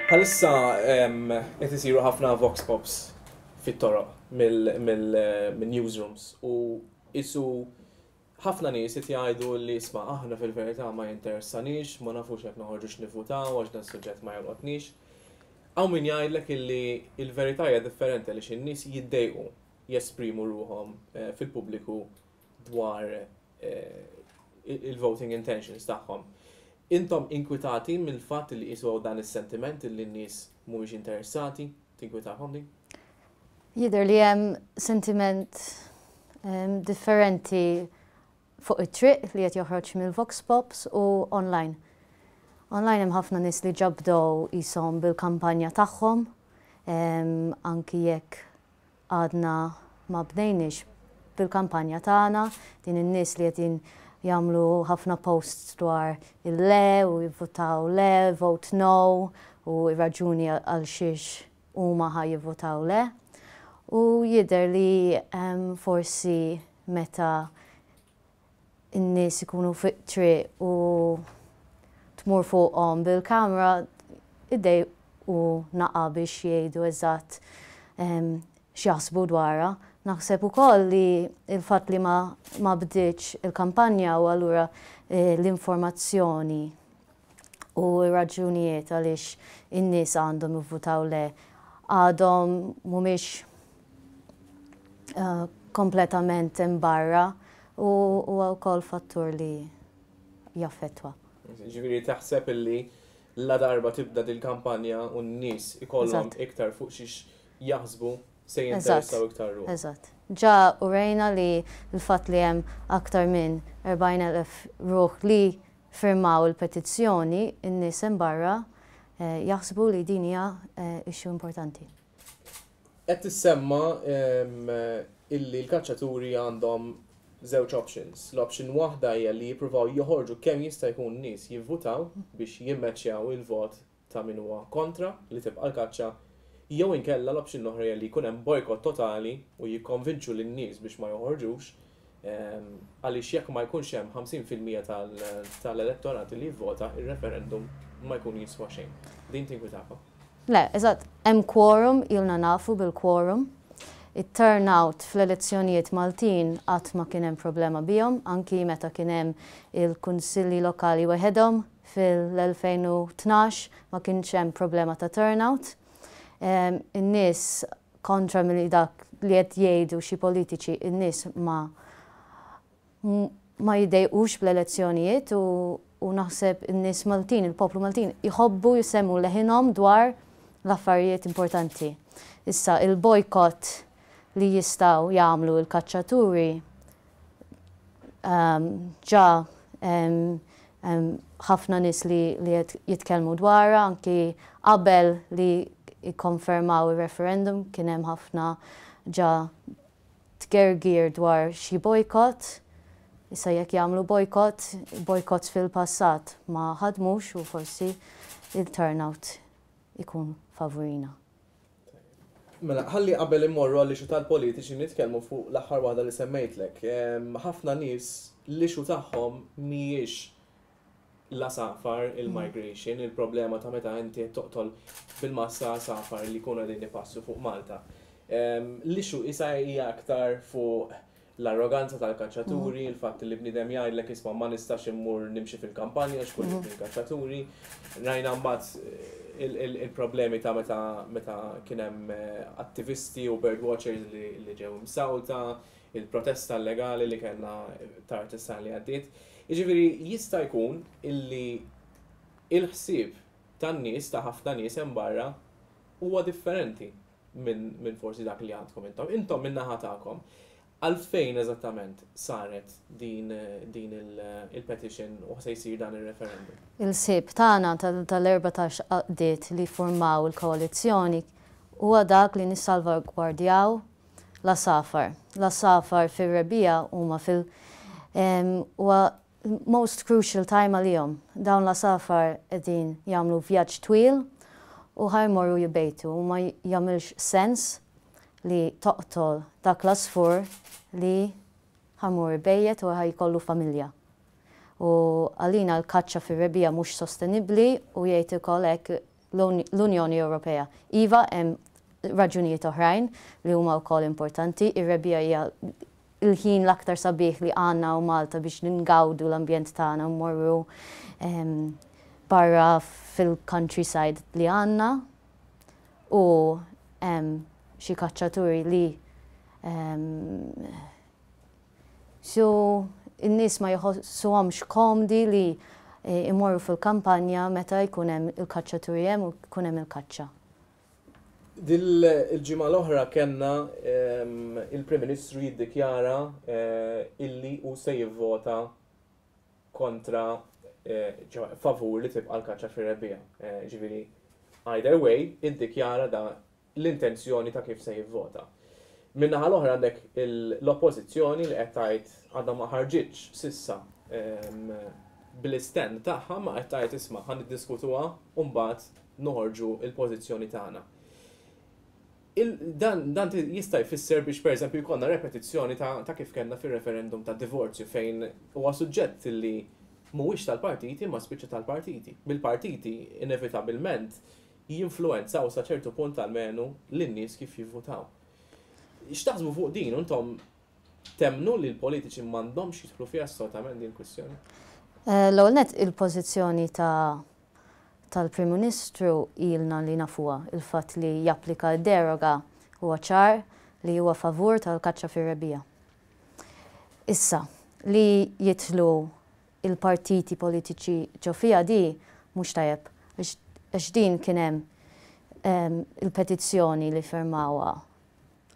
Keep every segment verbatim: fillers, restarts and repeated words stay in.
Bħalissa qed isiru ħafna vox pops fit-toroq mill-newsrooms u isu ħafna nies qed jgħidu li, "Isma', aħna fil-verità ma jinteressanix, ma nafux jekk noħorġux nivvutaw għax dan suġġett ma jolqotnix." Hawn min jgħidlek illi il-verità hija differenti għaliex in-nies jiddejqu jesprimu ruħhom eh, fil-pubbliku dwar eh, il-voting intentions tagħhom. Intom inkwitati mill-fatt li jiswaw dan is-sentiment li n-nies mhumiex interessati? Tinkwitakom din? Jidher li hemm sentiment um, differenti fuq it-triq li qed joħroġ mill-Vox Pops u online. Online hemm ħafna nies li ġabdow jisom bil-kampanja tagħhom, um, anki jekk għadna ma bdejniex bil-kampanja tagħna, din in-nies li qegħdin jagħmlu ħafna posts dwar il-le u jivvotaw le, vote no, u raġuni għal xiex huma ħa jivvotaw le. U jidher li um, forsi meta n-nies ikunu fuq triq u tmur fuqhom bil-kamera iddejqu naqa biex jgħidu eżatt um, x'jaħsbu dwarha. Naħseb ukoll li il-fatt li ma, ma bdietx il-kampanja u allura eh, l-informazzjoni u raġunijiet għaliex in-nies għandhom jivvutaw le għadhom mhumiex uh, kompletament imbarra u huwa wkoll fattur li jaffettwa. Ġifieri taħseb illi la darba tibda dil-kampanja u n-nies ikollhom iktar fuq xiex jaħsbu, se jinteressaw iktar ruħ? Eżatt. Ġa urejna li l-fatt li hemm aktar minn erbgħin elf ruħ li firmaw il-petizzjoni, in-nies hemm barra eh, jaħsbu li din hija eh, issue importanti. Qed tissemma illi l-kaċċaturi għandhom żewġ options. L-option waħda hija li jippruvaw joħorġu kemm jista' jkun nies jivvutaw biex jimmeċjaw il-vot ta' min huwa kontra li tibqa' l-kaċċa, jew inkella l-option l-oħra hija li jkun hemm bojkott totali u jikkonvinċu lin-nies biex ma joħorġux, għaliex jekk ma jkunx hemm ħamsin fil-mija tal-elettorat li jivvota, il-referendum ma jkun jiswa xejn. Din tinkwitakom? Le, eżatt, hemm quorum, ilna nafu bil-quorum. Il-turnout fl-elezzjonijiet Maltin qatt ma kien hemm problema bihom, anki meta kien hemm il-kunsilli lokali waħedhom fil-elfejn u tnax ma kienx hemm problema ta' turnout. In-nies, kontra milli dak li qed jgħidu xi politiċi, in-nies ma ma jiddejqux bl-elezzjonijiet u, u naħseb in-nies Maltin, il-poplu Maltin, jħobbu jsemmu leħinhom dwar l-affarijiet importanti. Issa, il-bojkott li jistgħu jagħmlu il-kaċċaturi um, ġa ħafna um, nies li, li jitkellmu dwarha, anki qabel li jikkonfermaw il-referendum kien hemm ħafna ġa tgergir dwar xi bojkott. Issa jekk jagħmlu bojkott, bojkott fil-passat ma ħadmux u forsi il-turnout ikun favorina. Mela, ħalli qabel immorru għall issue tal-politiċi nitkellmu fuq l-aħħar waħda li semmejtlek. Ħafna nies l-issue tagħhom mhijiex l-għasafar, il-migration, il-problema ta' meta inti toqtol bil-massa għasafar li jkunu qegħdin ipassu fuq Malta. L-issue issa hija aktar fuq l-arroganza tal-kaċċaturi, mm. il-fatt li bniedem jgħidlek, "Isma', ma nistax immur nimxi fil-kampanja x'kull mm. il-kaċċaturi." Rajna mbagħad eh, il-problemi ta' meta meta kien hemm eh, attivisti u bird watchers li ġew imsawta, il-protesta illegali li kellna tard is-sena li għaddiet. Jiġifieri jista' jkun illi il-ħsieb tan-nies, ta' ħafna nies hemm barra, huwa differenti minn min forsi dak li għandkom intom. Intom min-naħa tagħkom, għalfejn eżattament saret din, din il-petition u se jsir dan il-referendum? Il-ħsieb tagħna tal-erbatax għaqdiet li formaw il-koalizzjoni huwa dak li nissalvagwardjaw l-għasafar. L-għasafar fir-rebbiegħa huma fil- huwa most crucial time għalihom. Dawn l-għasafar qegħdin jagħmlu vjaġġ twil u ħa jmorru jbejtu u ma jagħmilx sens li toqtol dak l-għasfur li ħa jmur ibejjet u ħa jkollu familja. U għalina l-kaċċa fir-rebbiegħa mhux sostenibbli u jgħid ukoll hekk. l-Unjoni Ewropea. Iva, hemm raġunijiet oħrajn li huma wkoll importanti. Ir-rebbiegħa hija il-ħin l-aktar sabiħ li għandna u Malta biex ningawdu l-ambjent tagħna u mmorru barra fil-countryside li għandna u xi kaċċaturi li so in-nies ma jħossuhomx komdi li imorru fil-kampanja meta jkun hemm il-kaċċaturi hemm u jkun hemm il-kaċċa. Dil-ġimgħa l-oħra kellna il-Prim Ministru jiddikjara illi hu se jivvota kontra, favur li tibqa' l-kaċċa fir-rebbiegħa. Ġifieri, either way, iddikjara da l-intenzjoni ta' kif se jivvota. Min-naħa l-oħra għandek l-oppożizzjoni li qed tgħid għadha ma ħarġitx s'issa bil-stand tagħha, ma qed tgħid, "Isma', ħa niddiskutuha u mbagħad noħorġu il-pożizzjoni tagħna." Dan, dan jista' jfisser biex, pereżempju, jkollna repetizzjoni ta', ta kif kellna fir-referendum ta' divorzju, fejn huwa suġġett li mhuwiex tal-partiti ma spiċċa tal-partiti. Bil-partiti inevitabilment jinfluenzaw sa ċertu punt almenu lin-nies kif jivvutaw. X'taħsbu fuq din? Intom temmnu li l-politiċi m'għandhomx jidħlu fiha assolutament din kwistjoni? Eh, l-ewwel net, il-pożizzjoni ta' tal-Prim Ministru ilna li nafuha. Il-fatt li japplika deroga huwa ċar li huwa favur tal-kaċċa fir-rebbiegħa. Issa, li jidħlu il-partiti politiċi ġo fiha di mhux tajjeb, għax din kien hemm il-petizzjoni li firmawha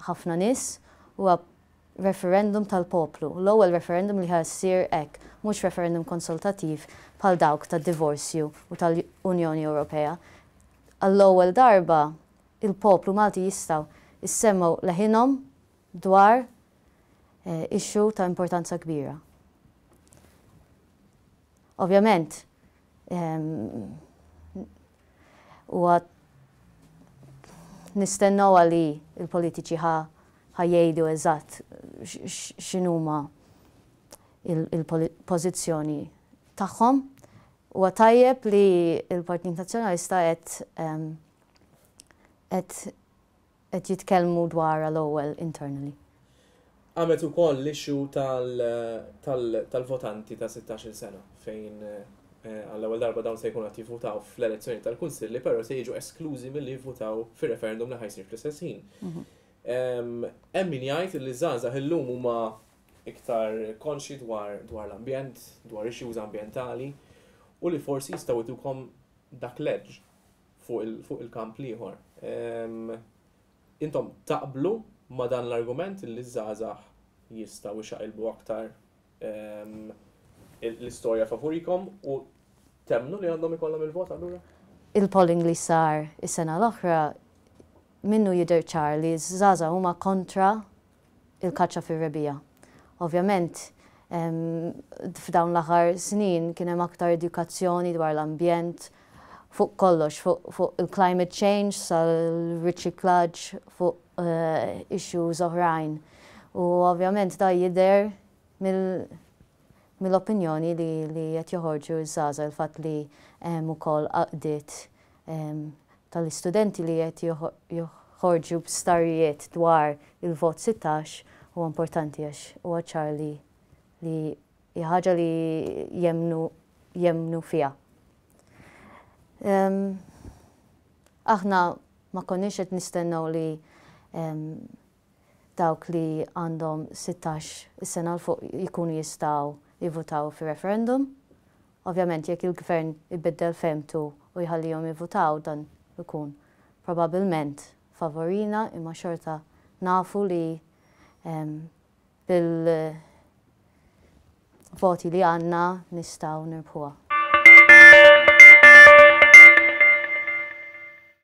ħafna nies, huwa referendum tal-poplu. L-ewwel referendum li ħa ssir hekk, mhux referendum konsultativ bħal dawk tad-divorzju u tal-Unjoni Ewropea. Għall-ewwel darba il-poplu Malti jistgħu jissemmgħu leħinhom dwar eh, issue ta' importanza kbira. Ovvjament, huwa nistennew li il-politiċi ħa jgħidu eżatt x'inhuma il-pożizzjoni tagħhom. Huwa tajjeb li il-Partit Nazzjonalista qed qed jitkellmu dwar l-ewwel internally. Għamet ukoll l-issue tal-votanti ta' sittax-il sena, fejn eh, għall-ewwel darba dawn se jkunu qed jivvutaw fl-elezzjoni tal-Kunsilli, però se jiġu esklużi milli jivvutaw fir-referendum li ħa jsir fl-istess ħin. Mhm. Hemm min jgħid li żgħażagħ illum huma iktar konxi dwar dwar l-ambjent, dwar issues ambjentali u li forsi jistgħu jtukom dak l-edge fuq il-kamp l-ieħor. Intom taqblu ma dan l-argument li żgħażagħ jistgħu jxaqilbu aktar l-istorja favurikom u temmnu li għandhom ikollhom il-vot allura? Il-polling li sar is-sena l-oħra minnu jidher ċar li żgħażagħ huma kontra il-kaċċa fir-rebbiegħa. Ovvjament, f'dawn l-aħħar snin kien hemm aktar edukazzjoni dwar l-ambjent, fuq kollox, fuq il-climate change, sal-riċiklaġġ, fuq uh, issues oħrajn. U ovvjament da jidher mill-opinjoni li li qed joħorġu ż-żgħażagħ. Il-fatt li hemm ukoll għaqdiet tal-istudenti li qed joħorġu b'starijiet dwar il-vot sittax huwa importanti, għax huwa ċar li li ħaġa li jemmnu jemmnu fiha. Aħna ma konniex qed nistennew li dawk li għandhom sittax is-sena 'l fuq jkunu jistgħu jivvutaw fi referendum. Ovvjament, jekk il-gvern ibiddel fehmtu u jħallihom jivvutaw, dan ikun probabbilment favorina, imma xorta nafu li bil-voti li għandna nistgħu nirbħuha.